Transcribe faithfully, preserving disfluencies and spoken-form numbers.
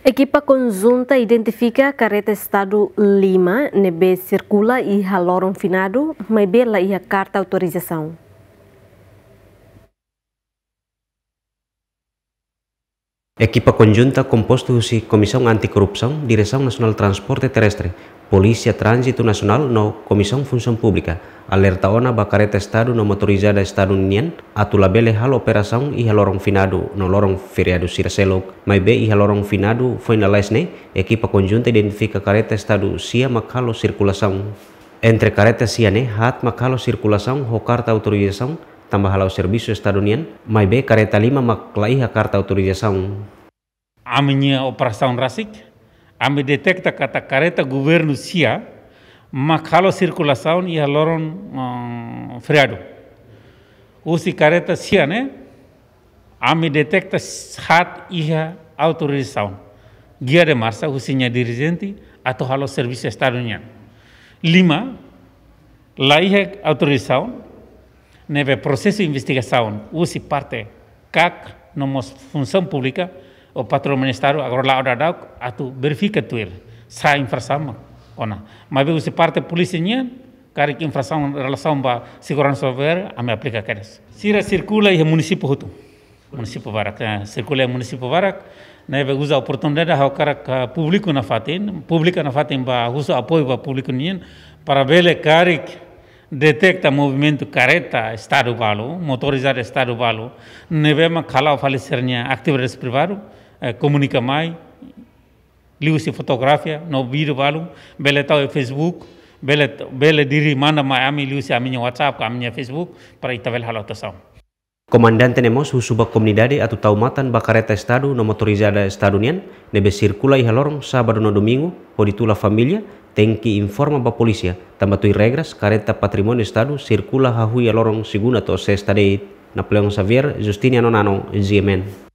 Ekipa konjunta identifika kareta Estadu lima ne'ebé sirkula iha loron finadu, maibé la iha karta autorizasaun. Ekipa konjunta kompostu husi Komisaun Anti-Korrupsaun, Diresaun Nasionál Transporte Terrestre, Polísia Tránzitu Nasionál no Komisaun Funsaun Públika alerta ona ba kareta Estadu no motorizada Estadu nian atu labele halo operasaun iha loron finadu no loron feriadu sira seluk, maibé iha loron finadu foin lalais ne'e, ekipa konjunta identifika kareta Estadu sia mak halo sirkulasaun. Entre kareta sia ne'e, haat mak halo sirkulasaun ho karta autorizasaun, tanba hala'o servisu Estadu nian, maibé kareta lima mak la iha karta autorizasaun. Ami-nia operasaun rasik, ami detekta katak kareta governu sia mak halo sirkulasaun iha loron, eh, feriadu. Husi kareta sia ne'e, ami detekta haat iha autorizasaun, guia de marcha husi nia dirijente atu halo servisu Estadu nian. Lima la iha autorizasaun, ne'ebé prosesu investigasaun husi parte KAK no mós Funsaun Públika ou Patrimóniu Estadu agora la'o daudauk atu verifika tuir sá infrasaun mak ona. Maibé husi parte polísia nian, karik infrasaun relasaun ba seguransa rodoviária, ami aplika kedas. Sira sirkula iha munisípiu hotu. Munisípiu barak, eh, sirkula iha munisípiu barak, ne'ebé uza oportunidade ha'u hakarak, eh, públiku nafatin, públiku nafatin ba husu apoiu ba públiku nian, para bele karik detekta movimentu kareta Estadu balu, motorizada Estadu balu, ne'ebé mak hala'o fali sira-nia atividade privadu, eh, komunika mai, liuhusi fotografia no vídeo balu, bele tau iha Facebook, bele, bele diri manda mai ami liuhusi ami-nia WhatsApp ka ami-nia Facebook, para ita bele halo atuasaun. Komandante ne'e mós husu ba komunidade atu tau matan ba kareta Estadu no motorizada Estadu nian, ne'ebé sirkula iha loron sábadu no domingu, hodi tula família, tenke informa ba polísia, tanba tuir regras, kareta patrimóniu Estadu sirkula hahú iha loron segunda to'o sesta de'it. Napoleão Xavier, Justiniano Nano, G M N.